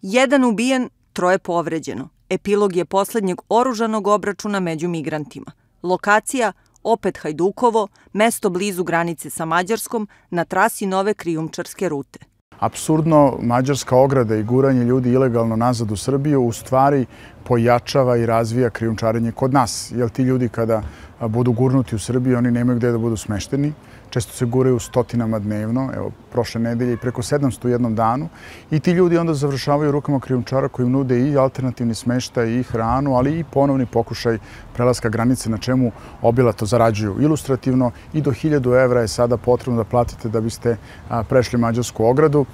1 ubijen, 3 povređeno. Epilog je poslednjeg oružanog obračuna među migrantima. Lokacija opet Hajdukovo, mesto blizu granice sa Mađarskom na trasi nove krijumčarske rute. Apsurdno, mađarska ograda i guranje ljudi ilegalno nazad u Srbiju u stvari pojačava i razvija krijumčarenje kod nas. Jer ti ljudi kada budu gurnuti u Srbiju, oni nemaju gde da budu smešteni. Često se guraju stotinama dnevno, evo, prošle nedelje i preko 700 u jednom danu. I ti ljudi onda završavaju rukama krijumčara koji im nude i alternativni smeštaj i hranu, ali i ponovni pokušaj prelaska granice na čemu obilato zarađuju. Ilustrativno i do 1000 evra je sada potrebno da platite da biste prešli mađarsku ogradu.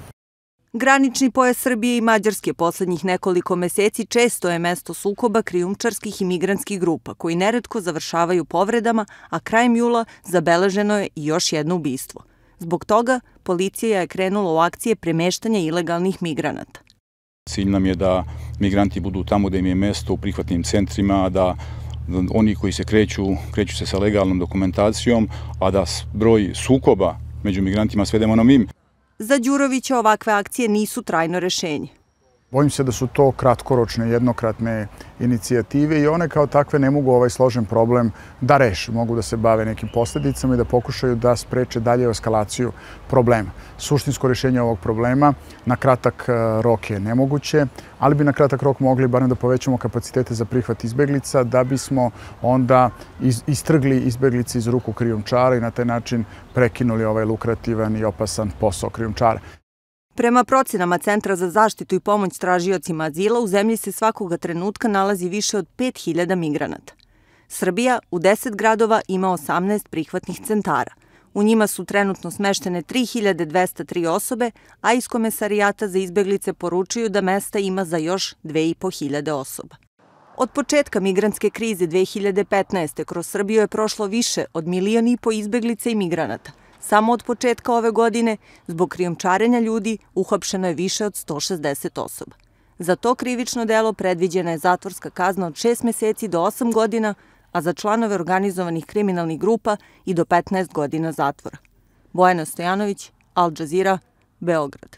Granični pojas Srbije i Mađarske poslednjih nekoliko meseci često je mesto sukoba krijumčarskih i migrantskih grupa, koji neretko završavaju povredama, a krajem jula zabeleženo je i još jedno ubistvo. Zbog toga, policija je krenula u akcije premeštanja ilegalnih migranata. Cilj nam je da migranti budu tamo gde im je mesto u prihvatnim centrima, da oni koji se kreću se sa legalnom dokumentacijom, a da broj sukoba među migrantima svedemo na minimum. Za Đurovića ovakve akcije nisu trajno rešenje. Bojim se da su to kratkoročne, jednokratne inicijative i one kao takve ne mogu ovaj složen problem da reše. Mogu da se bave nekim posledicama i da pokušaju da spreče dalje eskalaciju problema. Suštinsko rešenje ovog problema na kratak rok je nemoguće, ali bi na kratak rok mogli barem da povećamo kapacitete za prihvat izbeglica, da bismo onda istrgli izbeglice iz ruku krijumčara i na taj način prekinuli ovaj lukrativan i opasan posao krijumčara. Prema procenama Centra za zaštitu i pomoć tražiocima azila, u zemlji se svakoga trenutka nalazi više od 5000 migranata. Srbija u 10 gradova ima 18 prihvatnih centara. U njima su trenutno smeštene 3203 osobe, a iz Komesarijata za izbeglice poručuju da mesta ima za još 2500 osoba. Od početka migrantske krize 2015. kroz Srbiju je prošlo više od 1,5 miliona izbeglica i migranata. Samo od početka ove godine, zbog krijumčarenja ljudi, uhapšeno je više od 160 osoba. Za to krivično delo predviđena je zatvorska kazna od 6 meseci do 8 godina, a za članove organizovanih kriminalnih grupa i do 15 godina zatvora. Bojana Stojanović, Al Jazeera, Beograd.